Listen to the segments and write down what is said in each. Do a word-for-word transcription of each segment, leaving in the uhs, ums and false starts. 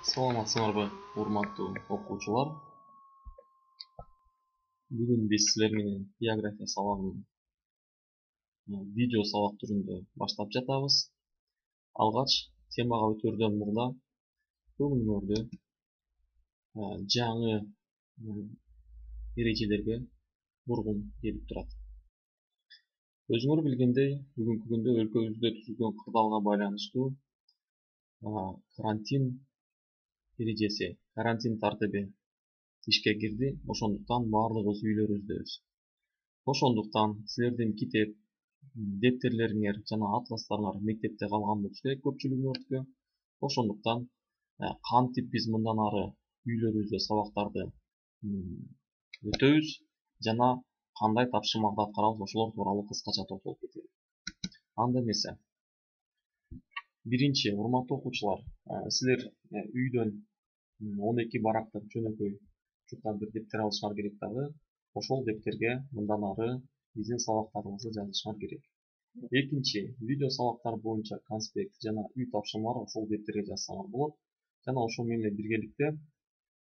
Саламатсыңарбы, урматтуу окуучулар. Бүгүн биз силер менен география сабагын видео сабак түрүндө баштап жатабыз. Алгач темага өтөрдөн мурда көңүлүңөрдө жаңы эрежелерге бургум келип турат. Өзүңөр билгендей, бүгүнкү күндө өлкөбүздө түзүлгөн кырдаалга байланыштуу карантин эрежеси, карантин тартиби ишке кирди. Ошондуктан баардыгыбыз үйлөрүбүздөбүз. Ошондуктан силердин китеп, дептерлериңер жана атластарыңар мектепте калган болушу керек көпчүлүгүңөрдүкү. Ошондуктан кантип биз мындан ары үйлөрүбүздө сабактарды өтөбүз жана кандай тапшырмаларды аткарабыз, ошолор тууралуу кыскача токтолуп кетели. Анда эмесе, биринчи, урматтуу окуучулар, силер үйдөн он эки барактык жөнөкөй чуркан бир дептер алышыңар керек дагы. Ошол дептерге мындан ары биздин сабактарыбызды жазышыңар керек. Экинчи, видео сабактар боюнча конспект жана үй тапшырмалар ошол дептерге жазсаңар болот. Жана ошол менен биргеликте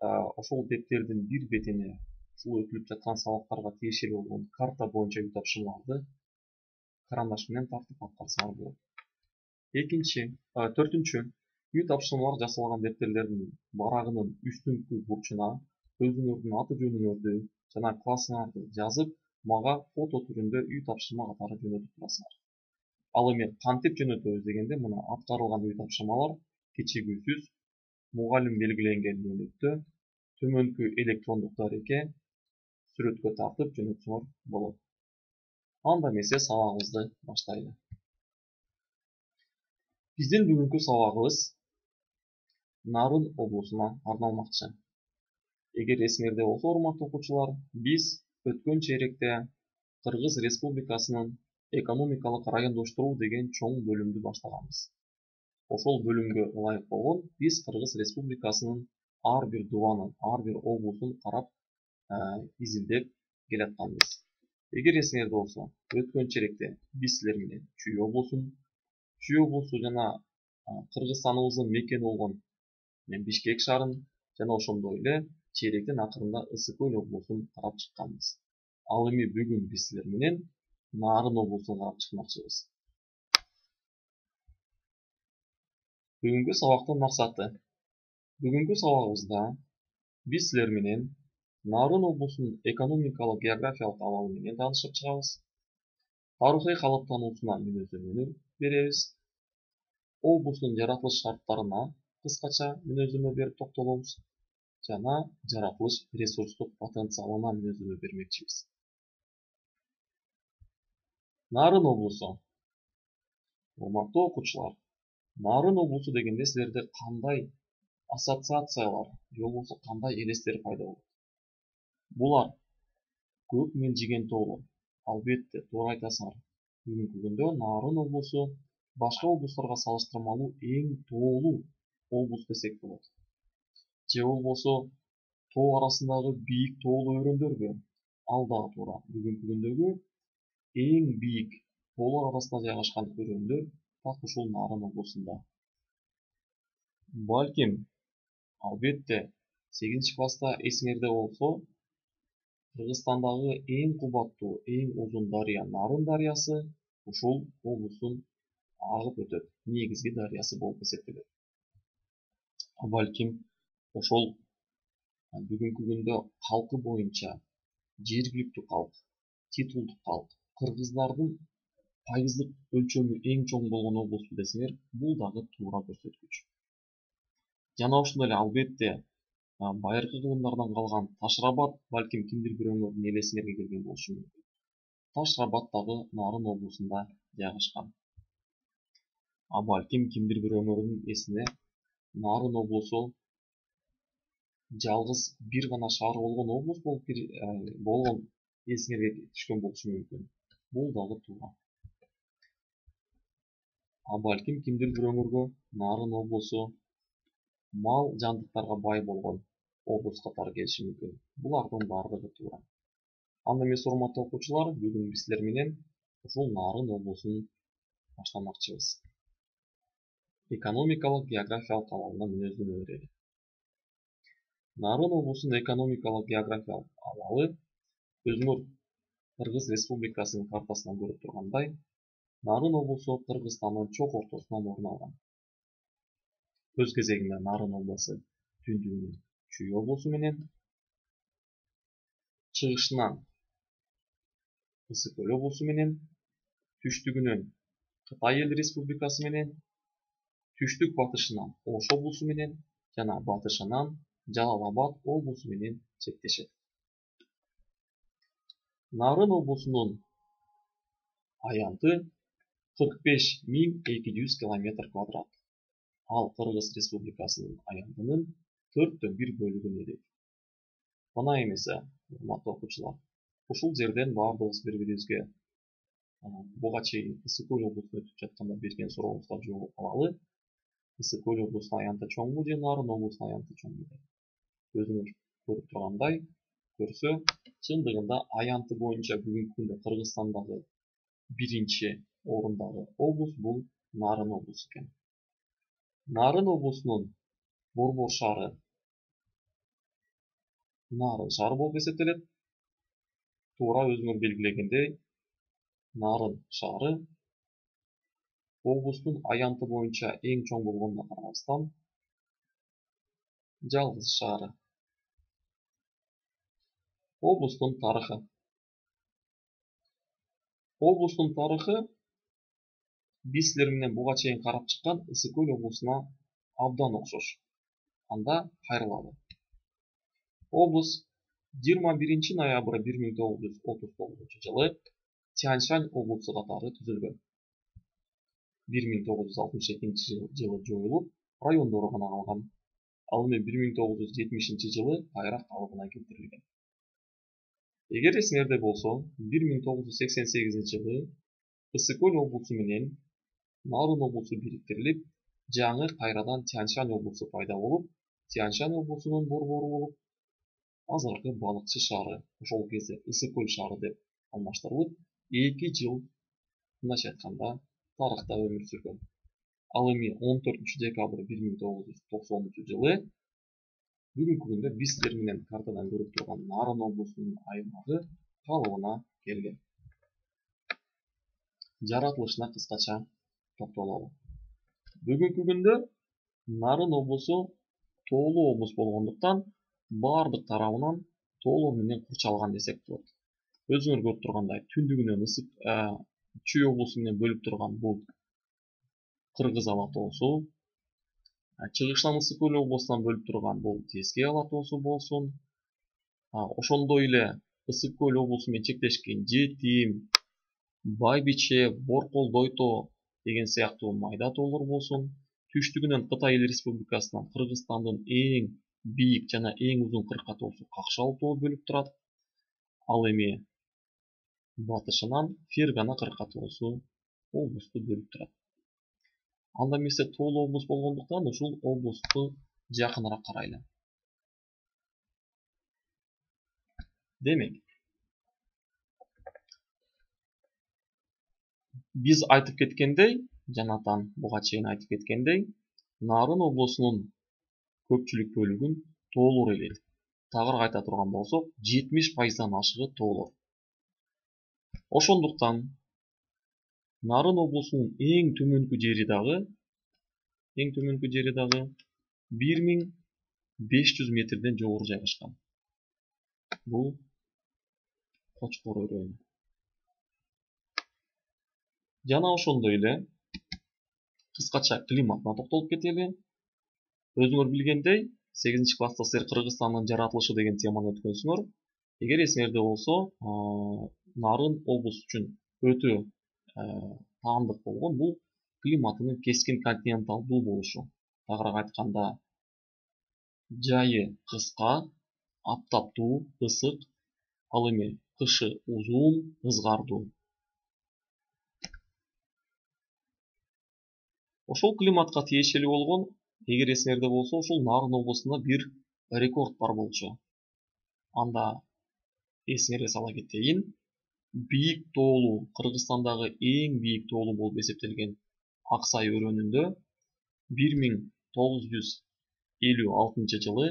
ошол дептердин бир бетине ушул өтүлүп жаткан сабактарга тиешелүү болгон карта боюнча үй тапшырмаларды карандаш менен тартып аткарсаңар болот. Экинчи, төртүнчү, үй тапшырмалар жасалган дептерлердин барагынын үстүңкү бурчуна өзүңөрдүн аты жөнүңөрдү жана классыңарды жазып, мага фото түрүндө үй тапшырма катары жөнөтүп турасыңар. Ал эми кантип жөнөтөбүз дегенде, мына аткарылган үй тапшырмалар кечигүүсүз мугалим белгиленген мөөнөттө төмөнкү электрондук дарекке сүрөткө тартып жөнөтсөңөр болот. Анда эмесе сабагыбызды баштайлы. Биздин бүгүнкү сабагыбыз Нарын облусуна арналмакчы. Эгер эсиңерде болсо, урматтуу окуучулар, биз өткөн чейректе Кыргыз Республикасынын экономикалык райондоштуруу деген чоң бөлүмдү баштаганбыз. Ошол бөлүмгө ылайык болгон биз Кыргыз Республикасынын ар бир дубанын, ар бир облусун карап, изилдеп келатканбыз. Эгер эсиңерде болсо, өткөн чейректе биз силер менен Чүй облусун, Чүй облусу жана Кыргызстаныбыздын мекени болгон Бишкек шаарын жана ошондой эле чейректин акырында Ысык Көл облусун карап чыкканбыз. Ал эми бүгүн биз силер менен Нарын облусун карап чыкмакчыбыз. Бүгүнкү сабактын максаты. Бүгүнкү сабагыбызда биз силер менен Нарын облусунун экономикалык географиялык абалы менен таанышып чыгабыз. Тарыхый калыптануусуна мүнөздөмөнү беребиз. Облустун жаратылыш шарттарына кыскача мүнөздөмө берип токтолобуз жана жаратылыш ресурстук потенциалына мүнөздөмө бермекчибиз. Нарын облусу. Урматтуу окуучулар, Нарын облусу дегенде силерде кандай ассоциациялар же болбосо кандай элестер пайда болот? Булар көк мелжиген тоолор. Албетте, туура айтасыңар. Бүгүнкү күндө Нарын облусу башка облустарга салыштырмалуу эң тоолуу облус десек болот. Же болбосо тоо арасындагы бийик тоолуу өрөндөрбү? Ал дагы туура. Бүгүнкү күндөгү эң бийик тоолор арасында жайгашкан өрөндөр так ушул Нарын облусунда. Балким, албетте, сегизинчи класста эсиңерде болсо, Кыргызстандагы эң кубаттуу, эң узун дарыя Нарын дарыясы ушул облустун агып өтөт. Негизги дарыясы болуп эсептелет. Балким, ошол бүгүнкү күндө калкы боюнча жергиликтүү калк, титулдук калк, кыргыздардын пайыздык өлчөмү эң чоң болгон облусту десеңер, бул дагы туура көрсөткүч. Жана ошондой эле албетте байыркы кылымдардан калган Таш-Рабат балким кимдир бирөөңөрдүн элесиңерге келген болушу мүмкүн. Таш-Рабат дагы Нарын облусунда жайгашкан. А балким кимдир бирөөңөрдүн эсине Нарын облусу жалгыз бир гана шаар болгон облус болуп болгон эсиңерге түшкөн болушу мүмкүн. Бул дагы туура. А балким кимдир бирөөңөргө Нарын облусу мал жандыктарга бай болгон облус катары келиши мүмкүн. Булардын баардыгы туура. Анда эмесе, урматтуу окуучулар, бүгүн биз силер менен ушул Нарын облусун баштамакчыбыз. Экономикалык географиялык абалына мүнөздөмө берели. Нарын облусунун экономикалык географиялык абалы өзүңөр Кыргыз Республикасынын картасынан көрүп тургандай, Нарын облусу Кыргызстандын чок ортосунан орун алган. Өз кезегинде Нарын обласу түндүгүнөн Чүй облусу менен, чыгышынан Ысык Көл облусу менен, түштүгүнөн Кытай Эл Республикасы менен, түштүк батышынан Ош облусу менен жана батышынан Жалал Абад облусу менен чектешет. Нарын облусунун аянты кырк беш миң эки жүз километр квадрат. Ал Кыргыз Республикасынын аянтынын төрттөн бир бөлүгүн ээлейт. Мына эмесе, урматтуу окуучулар, ушул жерден баардыгыбыз бири-бирибизге буга чейин Ысык Көл облусунда өтүп жатканда берген сурообузга жооп алалы. Ысык Көл облусунун аянты чоңбу же Нарын облусунун аянты чоңбу деп. Өзүңөр көрүп тургандай, көрсө, чындыгында аянты боюнча бүгүнкү күндө Кыргызстандагы биринчи орундагы облус бул Нарын облусу экен. Нарын облусунун борбор шаары Нарын шаары болуп эсептелет. Туура өзүңөр белгилегендей, Нарын шаары облустун аянты боюнча эң чоң болгонуна карабастан жалгыз шаары. Облустун тарыхы. Облустун тарыхы биз силер менен буга чейин карап чыккан Ысык Көл облусуна абдан окшош. Анда кайрылалы. Облус жыйырма биринчи ноябрь бир миң тогуз жүз отуз тогузунчу жылы Тянь-Шань облусу катары түзүлгөн. бир миң тогуз жүз алтымыш экинчи жылы жоюлуп, райондору гана калган. Ал эми бир миң тогуз жүз жетимишинчи жылы кайра калыбына келтирилген. Эгер эсиңерде болсо, бир миң тогуз жүз сексен сегизинчи жылы Ысык Көл облусу менен Нарын облусу бириктирилип, жаңы кайрадан Тянь-Шань облусу пайда болуп, Тянь-Шань облусунун борбору болуп, азыркы балыкчы шаары, ошол кезде Ысык Көл шаары деп алмаштырылып, эки жыл мындайча айтканда тарыхта өмүр сүргөн. Ал эми он төртүнчү декабрь бир миң тогуз жүз токсонунчу жылы бүгүнкү күндө биз силер менен картадан көрүп турган Нарын облусунун аймагы калыбына келген. Жаратылышына кыскача токтололу. Бүгүнкү күндө Нарын облусу тоолуу облус болгондуктан бардык тарабынан тоолор менен курчалган десек болот. Өзүңөр көрүп тургандай, түндүгүнөн Ысык Чүй облусу менен бөлүп турган бул Кыргыз Ала тоосу, чыгышынан Ысык Көл облусунан бөлүп турган бул Тескей Ала тоосу болсун, ошондой эле Ысык Көл облусу менен чектешкен Жетим, Байбиче, Борколдой тоо деген сыяктуу майда тоолор болсун, түштүгүнөн Кытай Эл Республикасынан Кыргызстандын эң бийик жана эң узун кырка тоосу Какшал тоо бөлүп турат. Ал эми батышынан Фергана кырка тоосу облусту бөлүп турат. Анда эмесе тоолуу облус болгондуктан ушул облусту жакыныраак карайлы. Демек, биз айтып кеткендей, жанатан буга чейин айтып кеткендей, Нарын облусунун көпчүлүк бөлүгүн тоолор ээлейт. Тагыраак айта турган болсок, жетимиш пайыздан ашыгы тоолор. Ошондуктан Нарын облусунун эң төмөнкү жери дагы, эң төмөнкү жери дагы бир миң беш жүз метрден жогору жайгашкан. Бул Кочкор өрөөнү. Жана ошондой эле кыскача климатына токтолуп кетели. Өзүңөр билгендей, сегизинчи класста силер Кыргызстандын жаратылышы деген теманы өткөнсүңөр. Эгер эсиңерде болсо, Нарын облус үчүн өтө таандык болгон бул климатынын кескин континенталдуу болушу. Тагыраак айтканда, жайы кыска, аптаптуу, ысык, ал эми кышы узун, ызгардуу. Ошол климатка тиешелүү болгон, эгер эсиңерде болсо, ушул Нарын облусунда бир рекорд бар болчу. Анда эсиңерге сала кетейин, бийик тоолуу, Кыргызстандагы эң бийик тоолуу болуп эсептелген Аксай өрөөнүндө бир миң тогуз жүз элүү алтынчы жылы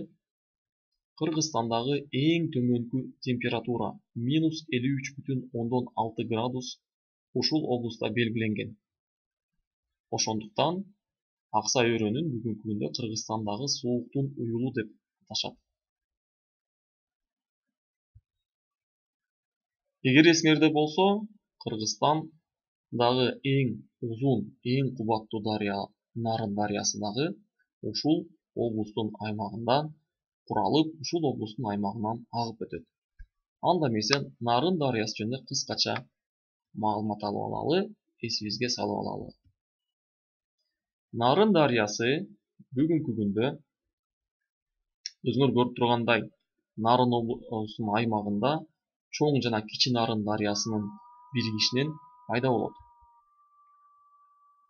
Кыргызстандагы эң төмөнкү температура минус элүү үч бүтүн ондон алты градус ушул облустта белгиленген. Ошондуктан Аксай өрөөнүн бүгүнкү күндө Кыргызстандагы сууктун уюлу деп аташат. Эгер эсиңерде болсо, Кыргызстандагы эң узун, эң кубаттуу дарыя Нарын дарыясы дагы ушул облустун аймагында куралып, ушул облустун аймагынан агып өтөт. Анда эмесе Нарын дарыясы жөнүндө кыскача маалымат алып алалы, эсибизге салып алалы. Нарын дарыясы бүгүнкү күндө өзүңөр көрүп тургандай Нарын облусунун аймагында чоң жана кичи Нарын дарыясынын биригишинен пайда болот.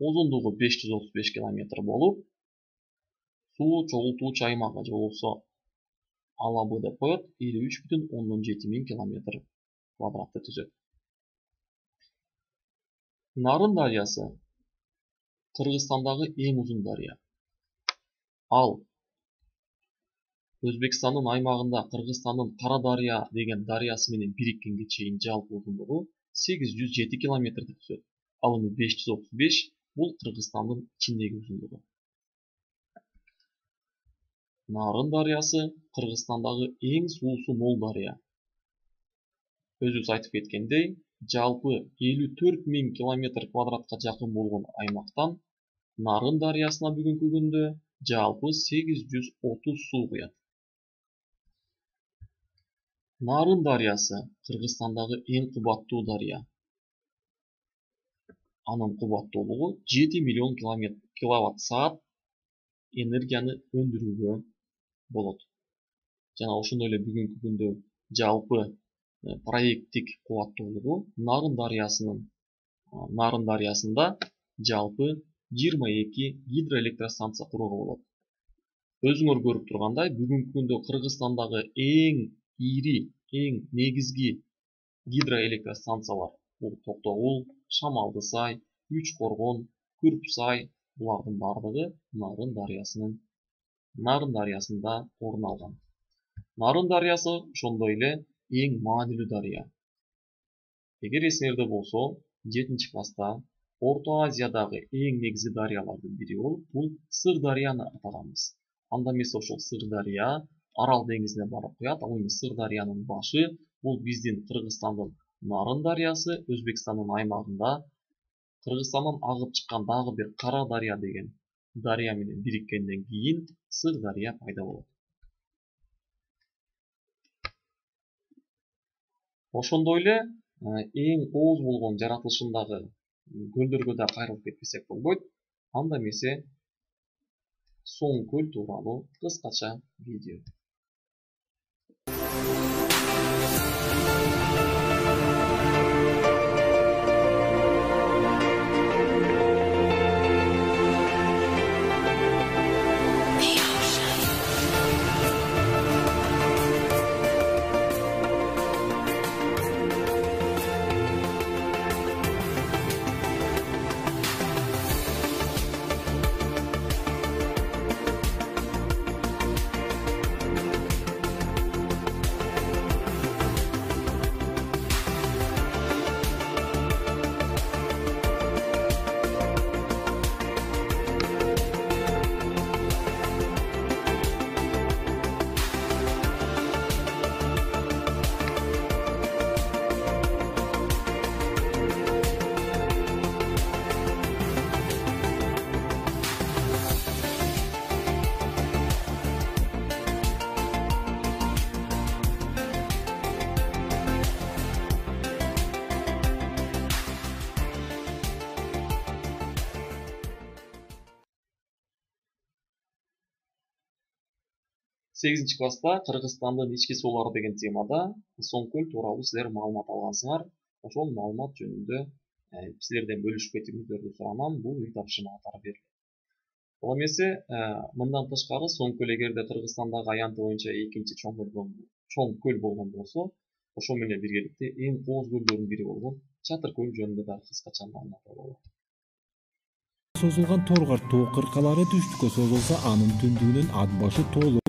Узундугу беш жүз отуз беш километр болуп, суу чогултуучу аймагы же болбосо алабы деп коет элүү үч бүтүн ондон жети миң километр квадратты түзөт. Нарын дарыясы Кыргызстандагы эң узун дарыя. Ал Өзбекстандын аймагында Кыргызстандын Кара дарыя деген дарыясы менен бириккенге чейин жалпы узундугу сегиз жүз жети километрди түзөт. Ал эми беш жүз отуз беш бул Кыргызстандын ичиндеги узундугу. Нарын дарыясы Кыргызстандагы эң суусу мол дарыя. Өзүбүз айтып кеткендей, жалпы элүү төрт миң километр квадратка жакын болгон аймактан Нарын дарыясына бүгүнкү күндө жалпы сегиз жүз отуз суу куят. Нарын дарыясы Кыргызстандагы эң кубаттуу дарыя. Анын кубаттуулугу жети миллион киловатт саат энергияны өндүрүүгө болот. Жана ошондой эле бүгүнкү күндө жалпы проекттик кубаттуулугу Нарын дарыясынын Нарын дарыясында жалпы жыйырма эки гидроэлектростанция курууга болот. Өзүңөр көрүп тургандай, бүгүнкү күндө Кыргызстандагы эң ири, эң негизги гидроэлектростанциялар бул Токтогул, Шамалдысай, Үч Коргон, Күрпсай, булардын бардыгы Нарын дарыясынын Нарын дарыясында орун алган. Нарын дарыясы ошондой эле эң маанилүү дарыя. Эгер эсиңерде болсо, жетинчи класста Орто Азиядагы эң негизги дарыялардын бири болуп, бул Сыр дарыяны атаганбыз. Анда эмесе ошол Сыр дарыя Арал деңизине барып куят. Ал эми Сыр дарыянын башы бул биздин Кыргызстандын Нарын дарыясы, Өзбекстандын аймагында Кыргызстандан агып чыккан дагы бир Кара дарыя деген дарыя менен бириккенден кийин Сыр дарыя пайда болот. Ошондой эле эң ооз болгон жаратылышындагы көлдөргө да кайрылып кетпесек болбойт. Анда эмесе Соң көл тууралуу кыскача видео. сегизинчи класста Кыргызстандын ички суулары деген темада Соң көл тууралуу силер маалымат алгансыңар. Ошол маалымат жөнүндө силерден бөлүшүп кетүүңүздөрдү суранам. Бул үй тапшырма катары берилет. Ал эмесе мындан тышкары Соң көл эгерде Кыргызстандагы аянты боюнча экинчи чоң көл болгон болсо, ошол менен биргеликте эң кооз көлдөрдүн бири болгон Чатыр көл жөнүндө да кыскача маалымат алалы. Созулган Торгар тоо кыркалары түштүккө созулса, анын түндүгүнөн ат башы тоолуу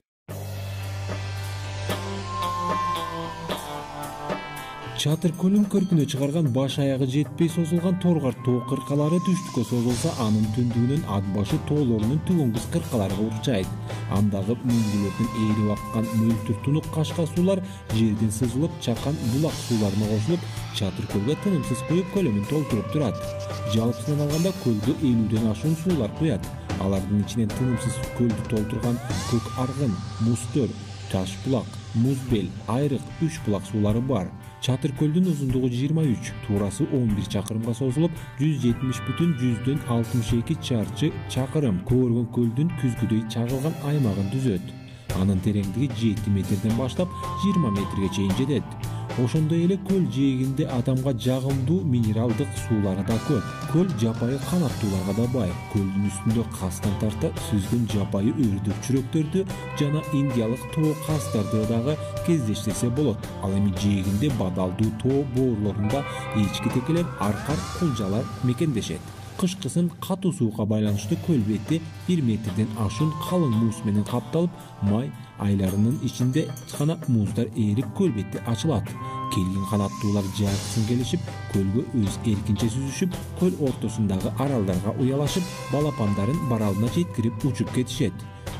Чатыр көлүн көркүнө чыгарган баш аягы жетпей созулган торгар тоо кыркалары түштүккө созулса, анын түндүгүнөн ат башы тоолорунун түгөнгүс кыркалары урчайт. Андагы мөңгүлөрдөн ээрип аккан мөлтүр тунук кашка суулар жерден сызылып, чакан булак сууларына кошулуп, Чатыр көлгө тынымсыз куюп, көлөмүн толтуруп турат. Жалпысынан алганда көлгө элүүдөн ашуун суулар куят. Алардын ичинен тынымсыз көлдү толтурган көк аргын, мустөр, таш булак, муз бел, айрык, үч булак суулары бар. Чатыр көлдүн узундугу жыйырма үч, туурасы он бир чакырымга созулуп, жүз жетимиш бүтүн жүздөн алтымыш эки чарчы чакырым Көөргөн көлдүн күзгүдөй чагылган аймагын түзөт. Анын тереңдиги жети метрден баштап жыйырма метрге чейин жетет. Ошондой эле көл жээгинде адамга жагымдуу минералдык суулары да көп. Көл жапайы канаттууларга да бай. Көлдүн үстүндө кастан тарта сүзгөн жапайы өрдөк чүрөктөрдү жана индиялык тоо кастарды дагы кездештирсе болот. Ал эми жээгинде бадалдуу тоо боорлорунда эчки текелер, аркар, кулжалар мекендешет. Кышкысын катуу суукка байланыштуу көл бети бир метрден ашуун калың муз менен капталып, май айларынын ичинде гана муздар ээрип көл бети ачылат. Келген канаттуулар жайкысын келишип, көлгө өз эркинче сүзүшүп, көл ортосундагы аралдарга уялашып, балапандарын баралына жеткирип учуп кетишет.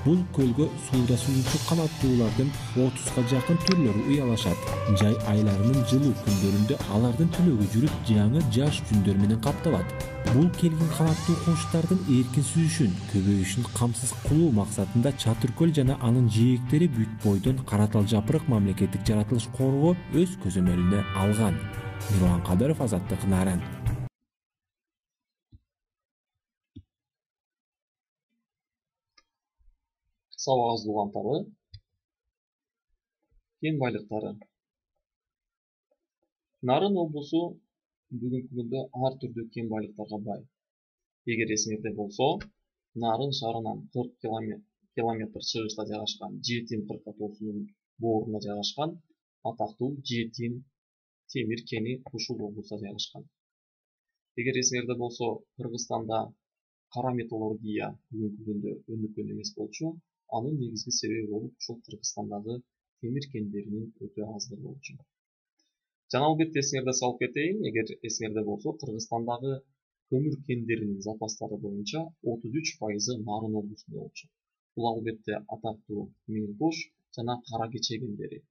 Бул көлгө сууда сүзүүчү канаттуулардын отузга жакын түрлөрү уялашат. Жай айларынын жылуу күндөрүндө алардын түлөгү жүрүп, жаңы жаш жүндөр менен капталат. Бул келген канаттуу куштардын эркин сүзүшүн, көбөйүшүн камсыз кылуу максатында Чатыр көл жана анын жээктери бүт бойдон Каратал Жапырак мамлекеттик жаратылыш коргоо өз көзөмөлүнө алган. Мирлан Кадыров, Азаттык, Нарын. Сабагыбыз угантары, кен байлыктары. Нарын облусу бүгүнкү күндө ар түрдүү кен байлыктарга бай. Эгер эсиңерде болсо, Нарын шаарынан кырк километр чыгышта жайгашкан Жетин кырка тоосунун бооруна жайгашкан атактуу Жетин темир кени ушул облуста жайгашкан. Эгер эсиңерде болсо, Кыргызстанда кара металлургия бүгүнкү күндө өнүккөн эмес болчу. Анын негизги себеби болуп ушул Кыргызстандагы темир кендеринин өтө аздыгы болчу. Жана албетте эсиңерде салып кетейин, эгер эсиңерде болсо, Кыргызстандагы көмүр кендеринин запастары боюнча отуз үч пайызы Нарын облусунда болчу. Бул албетте атактуу Миң Кош жана Кара Кече кендери.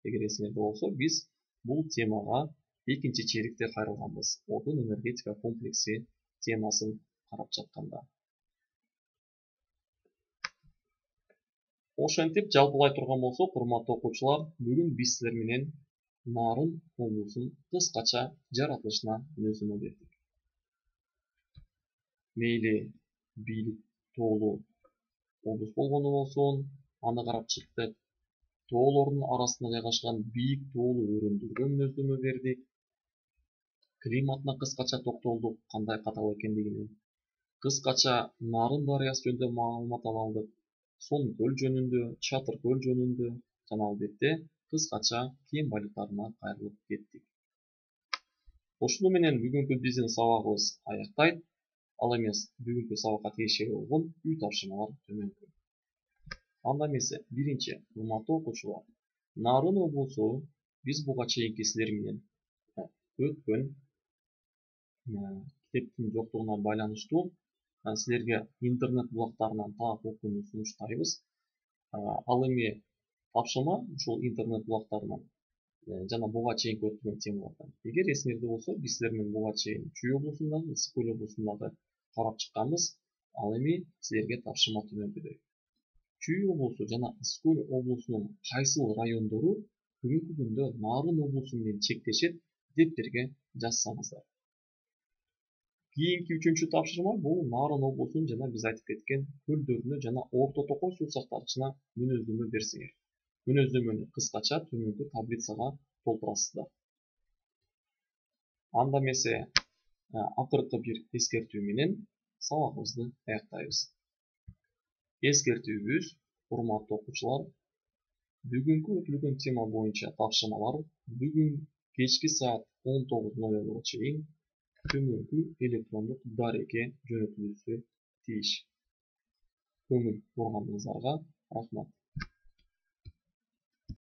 Эгер эсиңерде болсо, биз бул темага экинчи чейректе кайрылганбыз. Отун энергетика комплекси темасын карап жатканда. Ошентип жалпылай турган болсок, урматтуу окуучулар, бүгүн биз силер менен Нарын облусун кыскача жаратылышына мүнөздөмө бердик. Мейли бийлик тоолуу облус болгону болсун, аны карап чыктык. Тоолордун арасында жайгашкан бийик тоолуу өрөөндөргө мүнөздөмө бердик. Климатына кыскача токтолдук, кандай катал экендигине. Кыскача Нарын дарыясы жөнүндө маалымат ала алдык. Сом көл жөнүндө, Чатыр көл жөнүндө жана албетте кыскача кен байлыктарына кайрылып кеттик. Ошону менен бүгүнкү биздин сабагыбыз аяктайт. Ал эмес, бүгүнкү сабакка тиешелүү болгон үй тапшырмалар төмөнкү. Анда эмесе, биринчи, урматтуу окуучулар, Нарын облусу биз буга чейинки силер менен өткөн китептин жоктугуна байланыштуу силерге интернет булактарынан таап окууну сунуштайбыз. Ал эми тапшырма ушул интернет булактарынан жана буга чейинки өткөн темалардан. Эгер эсиңерде болсо, биз силер менен буга чейин Чүй облусундагы, Ысык көл облусундагы карап чыкканбыз. Ал эми силерге тапшырма төмөнкүдөй. Чүй облусу жана Ысык көл облусунун кайсыл райондору бүгүнкү күндө Нарын облусу менен чектешет деп берге жазсаңыздар. Кийинки үчүнчү тапшырма бул Нарын облусунун жана биз айтып кеткен көлдөрүнө жана Орто Токой суу сактагычына мүнөздөмө берсеңер. Мүнөздөмөнү кыскача төмөнкү таблицага толтурасыздар. Анда эмесе, акыркы бир эскертүү менен сабагыбызды аяктайбыз. Эскертүүбүз, урматтуу окуучулар, бүгүнкү өтүлгөн тема боюнча тапшырмалар бүгүн кечки саат он тогуз ноль нолго чейин төмөнкү электрондук дарекке жөнөтүлүүсү тийиш. Көңүл бургандыгыңыздарга рахмат.